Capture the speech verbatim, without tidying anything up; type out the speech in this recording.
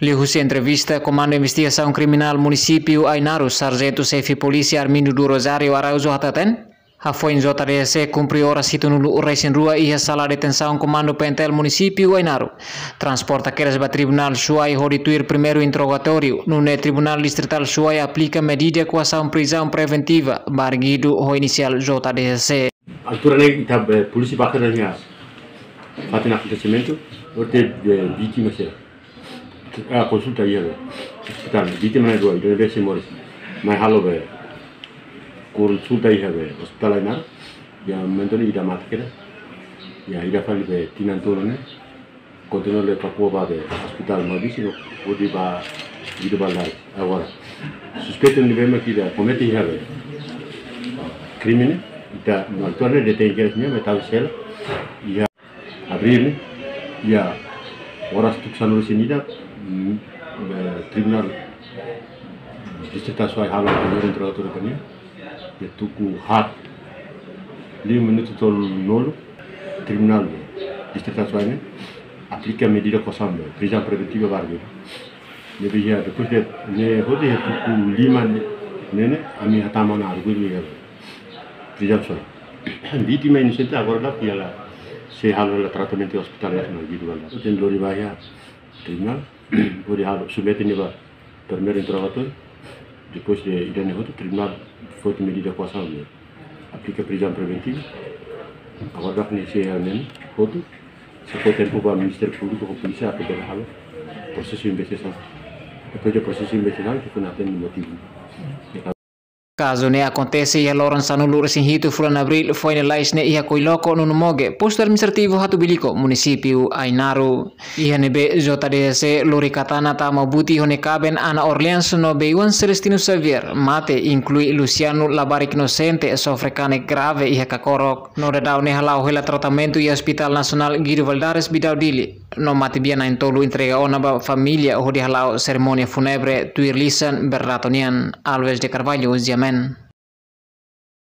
Liuhusi entrevista, Komandu Investigasaun Kriminál Munisípiu Ainaro, Sarjentu Xefe Polísia Armindo do Rosário Araújo hateten, hafoin J D H C kumpre oras hitunulu-resin-rua iha sala detensaun Komandu P N T L Munisípiu Ainaro, transporta kedas ba Tribunál Suai hodi tuir primeiru interrogatóriu, nune'e Tribunál Distritál Suai aplika medida koasaun prizaun preventiva ba arguidu ho inisiál J D H C. Altura ne'e ita, eh, polísia bá iha fatin akontesimentu, ohin, eh, vítima sira. Ah, konsulta iha be ospitál, vítima ne'e rua, ida-ne'ebé sei moris. Mai halo be konsulta iha be ospitál Ainaro, iha momentu ne'e ida mate kedas. Iha ida fali be tinan tolu ne'e, kontinua lori Papua ba be ospitál Maubisse no hodi ba Guido Valadares. Agora, suspeitu ne'ebé mak ida komete iha be krime ne'e, ita no altura ne'e detén kedas nia, mai tau sela. Iha abríl ne'e, iha oras tuku sanulu-resin-ida, mm, eh, Tribunál Distritál Suai halo primeiru interrogatóriu ba nia. Iha tuku haat, lima minutu tolunulu, Tribunál Distritál Suai ne'e aplika medida koasaun be prizaun preventiva ba arguidu. Ne'ebé iha, depois de ne'e hotu iha tuku lima ne'e, ne'e, ne'e, ami hatama ona arguidu iha prizaun Suai. Vítima inosente agora daudaun hela sei halo hela tratamentu iha Ospitál Nasionál Guido Valadares. Tenke lori ba iha tribunál, hodi halo, submete nia ba primeiru interrogatóriu, depois de ida-ne'e hotu, tribunál foti medida koasaun ne'e, aplika prizaun preventiva. Agora daudaun ne'e sei halo ne'e hotu, sei fó tempu ba Ministériu Públiku ho polísia atu bele halo prosesu investigasaun. Depois de prosesu investigasaun, ita foin hatene motivu. Kazu ne'e akontese iha loron sanulu-resin-hitu fulan abríl foin lalais ne'e iha Koiloko, Nunumoge, postu administrativu Hatubuilico, munisípiu Ainaro. Iha ne'ebé J D H C lori Katana tama buti ho nia kaben Ana Orleans no Beiwan Celestino Xavier mate, inklui Luciano labarik inosente, sofre kanek grave iha kakorok. No daudaun ne'e hala'o hela tratamentu iha Ospitál Nasionál Guido Valadares, Bidau, Dili. No matebian na'in-tolu entrega ona ba família hodi hala'o serimónia fúnebre tuir lisan berdato nian. Alves de Carvalho, Ziamen.